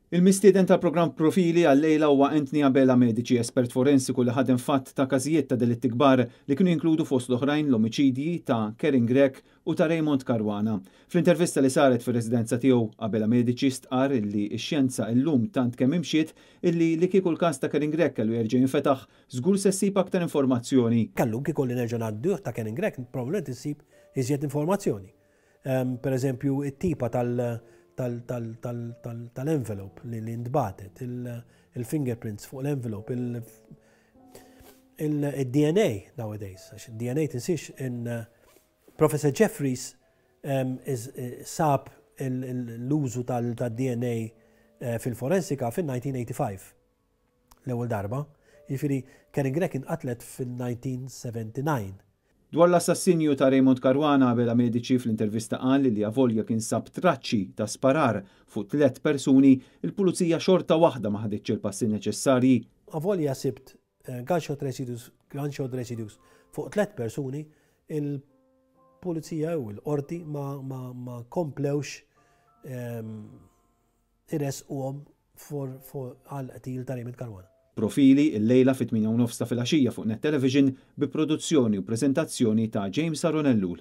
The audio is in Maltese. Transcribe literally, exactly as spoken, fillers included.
Il-mistieden tal-programm Profili għal-lejla huwa Anthony Abela Medici, espert forensiku li ħadem f'għadd ta' każijiet ta' delitti kbar li kienu jinkludu fost l-oħrajn l-omiċidji ta' Karin Grech u ta' Raymond Caruana. Fl-intervista li saret fir-residenza tiegħu, Abela Medici stqar illi x-xjenza illum tant kemm imxiet illi li kieku l-każ ta' Karin Grech kellu jerġa' jinfetaħ, żgur se ssib aktar informazzjoni. Kellu kieku li nerġa' ngħadduh ta' Karin Grech, probabbilment issib iżjed informazzjoni. Per eżempju, it-tipa tal- tal-envelope li ntbagħtet, il-fingerprints fuq l-envelope, il-D N A nowadays, għax il-D N A, tinsiex in Professor Jeffries sab l-użu tal-D N A eh, fil-forensika fil-elf disa' mija u ħamsa u tmenin l-ewwel darba. Jiġifieri Karin Grech inqatlet fil-elf disa' mija u disgħa u sebgħin. Dwar l-assassinju ta' Raymond Caruana, Abela Medici fl-intervista qal li avolja kien sab traċċi ta' sparar fuq tliet persuni, il-pulizija xorta waħda ma ħaditx il-passi neċessarji. Avolja sibt eh, gunshot residues, gunshot residues fuq tliet persuni, il-pulizija u l-qorti ma, ma, ma komplewx um, iressquhom għal qtil ta' Raymond Caruana. Profili il-lejla fit-tmienja u nofs ta' filgħaxija fuq Net Television bi produzzjoni u prezentazzjoni ta' James Aron Ellul.